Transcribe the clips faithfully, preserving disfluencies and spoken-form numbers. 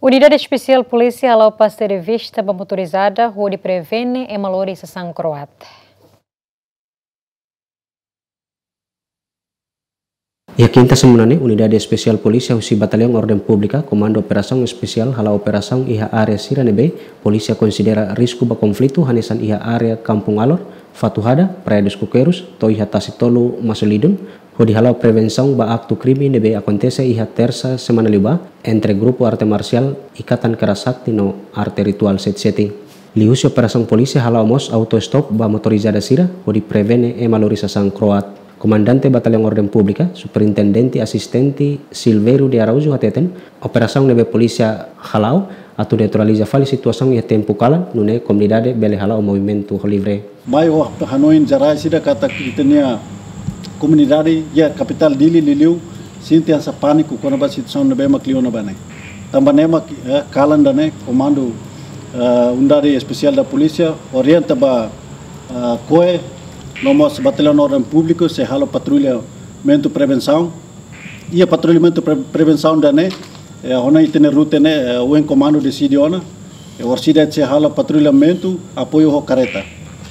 Unidade Espesiál Polísia hala'o pasta de vista ba motorizada hodi prevene ema lori sasán kro'at. Iha kinta semana ne'e, Unidade Espesiál Polísia husi Bataliaun Orden Públika, Komandu Operasaun Espesiál hala'o operasaun iha área sira ne'ebé polísia konsidera risku ba konflitu, hanesan iha área Kampung Alor, Fatuhada, Praia dos Coqueiros, to'o iha Tasi Tolu, Maslidun, hodi hala'o prevensaun ba aktu krime ne'ebé akontese iha Tersa semana liubá entre grupu arte marsiál Ikatan Kera Sakti no arte rituál Seti-Seti. Liuhusi operasaun, polísia hala'o mós auto-stop ba motorizada sira hodi prevene ema lori sasán kro'at. Komandante Bataliaun Orden Públika, Superintendente Asistente Silveiro de Araújo hateten, operasaun ne'ebé polísia hala'o atu neutraliza fali situasaun iha tempu kalan, nune'e komunidade bele hala'o movimentu ho livre. Mai ho hanoin jerál ida katak ita-nia komunidade iha kapitál Dili liuliu sente hanesan pániku kona-ba situasaun ne'ebé mak liu ona ba ne'e. Tanba ne'e mak, eh, kalan ida-ne'e, komandu, eh, Unidade Espesiál da Polísia orienta ba, eh, koe, no mós Bataliaun Orden Públika sei halo patrullamentu prevensaun. Iha patrullamentu pre-, prevensaun ida-ne'e, eh, ona ita-nia rute ne'e, eh, ohin komandu deside ona, eh, orsida sei halo patrullamentu apoiu ho kareta.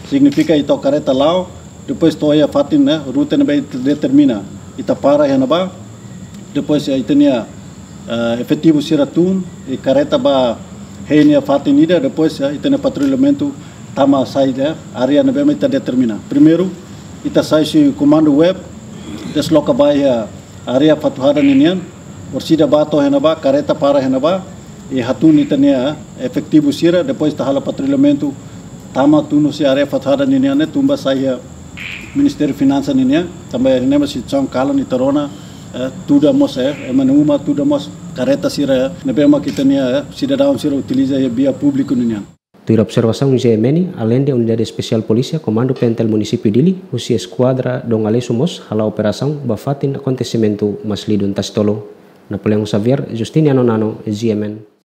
Signifika ita ho kareta la'o, depois to'o iha fatin ne'e, rute ne'ebé ita determina. Ita para iha ne'ebá, depois, eh, ita-nia, eh, efetivu sira tun, i kareta bá hein iha fatin ida, depois, eh, ita-nia patrullamentu tama sai iha área ne'ebé mak ita determina. Primeiru, ita sai husi komandu web, desloka ba iha área Fatuhada ninian, orsida bá to'o iha ne'ebá, kareta para iha ne'ebá, i hatún ita-nia efetivu sira, depois ita halo patrullamentu, tama tun husi área Fatuhada ninian ne'e, tun ba sai iha Ministériu Finansa ninian, tanba iha ne'e mak situasaun kalan ita rona, eh, tuda mós, eh, ema nia uma, tuda mós kareta sira, eh, ne'ebé mak ita-nia, eh, sidadaun sira utiliza iha via públiku ninian. Tuir observasaun G M N, aleinde Unidade Espesiál Polísia, Komandu Pentel Munisípiu Dili, husi Eskuadra Dom Aleixo mós hala'o operasaun ba fatin akontesimentu Maslidun Tasi Tolu. Napoleão Xavier, Justiniano Nano, G M N.